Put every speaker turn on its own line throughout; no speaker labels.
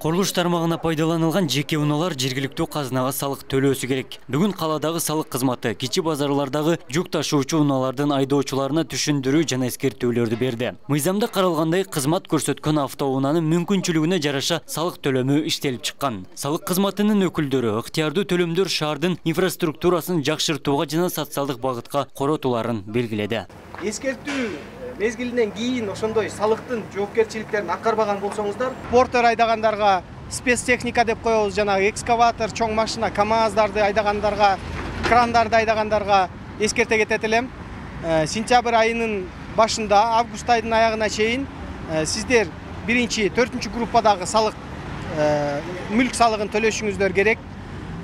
Курулуш тармагына пайдаланылган жеке унаалар жергиликтүү казынага салык төлөөсү керек. Бүгүн каладагы салык кызматы кичи базарлардагы жүк ташуучу унаалардын айдоочуларына түшүндүрүү жана эскертүүлөрдү берди. Мыйзамда каралгандай кызмат көрсөткөн автоунаанын мүмкүнчүлүгүнө жараша салык төлөмү иштелип чыккан. Салык кызматынын өкүлдөрү ыктыярдуу төлөмдөр шаардын инфраструктурасын жакшыртууга жана социалдык багытка коротууларын белгиледи.
Эскертүү мезгилинен кийин ошондой салыктын жоопкерчиликтерин аткарбаган болсоңуздар, портер айдагандарга спецтехника деп коебуз, жана экскаватор, чоң машина, КАМАЗдарды айдагандарга, крандарды айдагандарга эскерте кетет элем. Сентябрь айынын башында август айынын аягына чейин сиздер 1-4 группадагы салык, мүлк салыгын төлөшүңүздөр керек.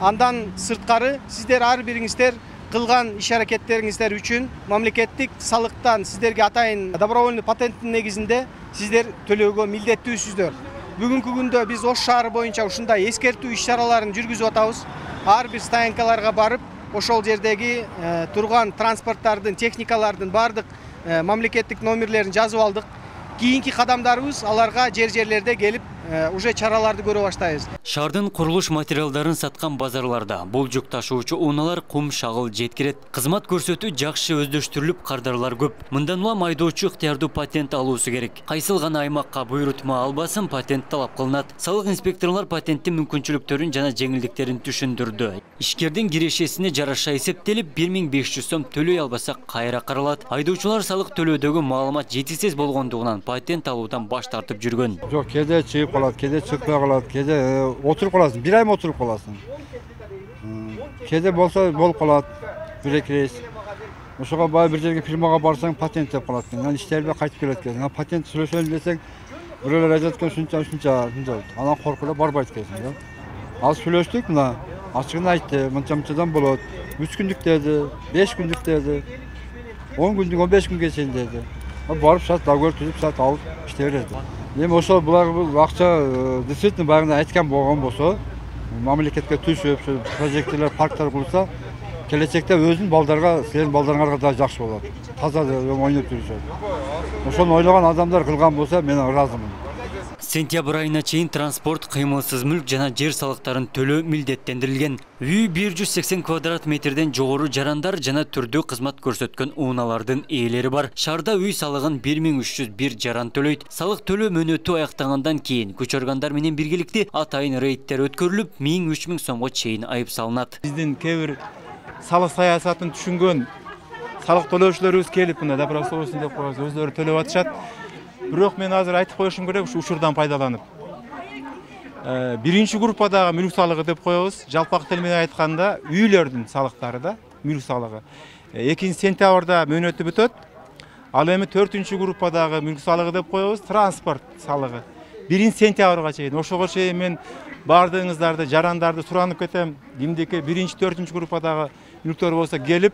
Андан сырткары сиздер ар бириңиздер кылган иш-аракеттериңиздер үчүн мамлекеттик салыктан сиздерге атайын добровольный патенттин негизинде сиздер төлөөгө милдеттүүсүздөр. Бүгүнкү күндө биз Ош шаары боюнча ушундай эскертүү иш-чараларын жүргүзүп атабыз. Ар бир стоянкаларга барып, ошол жердеги турган транспорттардын, техникалардын бардык мамлекеттик номерлерин жазып алдык. Кийинки кадамдарыбыз аларга жерлерде келип уже чараларды көрө баштайбыз.
Шаардын курулуш материалдарын саткан базарларда бул жүк ташуучу унаалар кум, шагыл жеткирет. Кызмат көрсөтүү жакшы өздөштүрүлүп, кардарлар көп. Мындан улам айдоочу ыктыярдуу патент алуусу керек. Кайсыл гана аймакка буйрутма албасын патент талап кылынат. Салык инспекторлор патенттин мүмкүнчүлүктөрүн жана жеңилдиктерин түшүндүрдү. Ишкердин кирешесине жараша эсептелип 1500 сом төлөй албаса кайра каралат. Айдоочулар салык төлөөдөгү маалымат жетишсиз болгондугунан патент алуудан баш тартып жүргөн.
Жок, кээде чыгып калат, кээде чыкпай калат, кээде отуруп каласың, бир айым отуруп каласың. Кээде болсо болуп калат, 1-2 рейс. Ошого бай бир жерге фирмага барсаң, патент деп калат экен. Анан иштербей кайтып келет экен. Патент сүйлөшөлү десең, бирөөлөр айтат экен, ушунча. Анан коркуп эле барбайт экенсиң да. Ал сүйлөштүк, мына ачыгын айтты, мынча-мынчадан болот. 3 күндүк деди, 5 күндүк деди. 10 күндүк, 15 күнгө чейин деди. Барып шат договор түзүп сат алып иштей берди. Эми ошол булар акча действительно баягы айткан болгон болсо, мамлекетке түшүп, прожектилер, парктар курса, келечекте өзүнүн балдарга, сенин балдарыңарга да жакшы болот. Таза ойноп жүрүшөт. Ошону ойлогон адамдар кылган болсо, мен ыраазымын.
Сентябрь айына чейин транспорт, кыймылсыз мүлк жана жер салыктарын төлөө милдеттендирилген. Үй 180 квадрат метрден жогору жарандар жана түрдүү кызмат көрсөткөн унаалардын ээлери бар. Шаарда үй салыгын 1301 жаран төлөйт. Салык төлөө мөөнөтү аяктагандан кийин күч органдар менен биргеликте атайын рейдтер өткөрүлүп, 1000-3000 сомго чейин айып салынат.
Биздин кээ бир салык саясатын түшүнгөн салык төлөөчүлөрүбүз келип, мына добросовестный деп коебуз, өздөрү төлөп атышат. Бирок мен азыр айтып коюшум керек, ушу учурдан пайдаланып. 1-ші группадагы мүлк салыгы деп коебуз. Жалпак тил менен айтканда үйлөрдүн салыктары да, мүлк салыгы. 2 сентябрда мөөнөтү бүтөт. Ал эми 4-ші группадагы мүлк салыгы деп коебуз, транспорт салыгы. 1 сентябрга чейин, ошого чейин мен бардыгыңыздарды, жарандарды суранып кетем. Кимдики 1-ші, 4-ші группадагы мүлктөр болсо келип,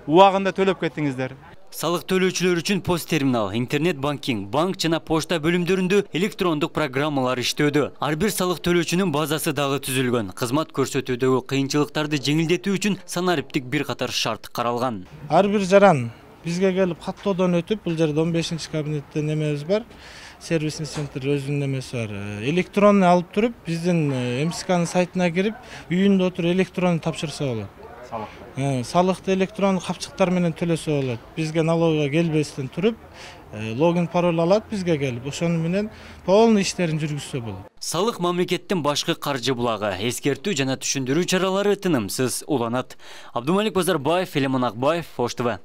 убагында төлөп кетиңиздер.
Салык төлөөчүлөр үчүн пост терминал, интернет банкинг, банк жана почта бөлүмдөрүндө электрондук программалар иштөөдө. Ар бир салык төлөөчүнүн базасы дагы түзүлгөн. Кызмат көрсөтүүдөгү кыйынчылыктарды жеңилдетүү үчүн санариптик бир катар шарт каралган.
Ар бир жаран бизге келип каттоодон өтүп, бул жерде 15-чи кабинетте немебиз бар. Сервисный центр өзүнүн немеси бар. Электронный алып туруп, биздин МСКнын сайтына кирип, үйүндө отуруп электронный тапшырса болот. Салыкты электрон капчыктар менен төлөсө болот. Бизге налогко келбестен туруп, логин пароль алат бизге келип, ошону менен полный иштерин жүргүзсө болот.
Салык мамлекеттин башкы каржы булагы, эскертүү жана түшүндүрүү чаралары тынымсыз уланат. Абдумалик Базарбаев, Элемон Акбаев, Ош ТВ.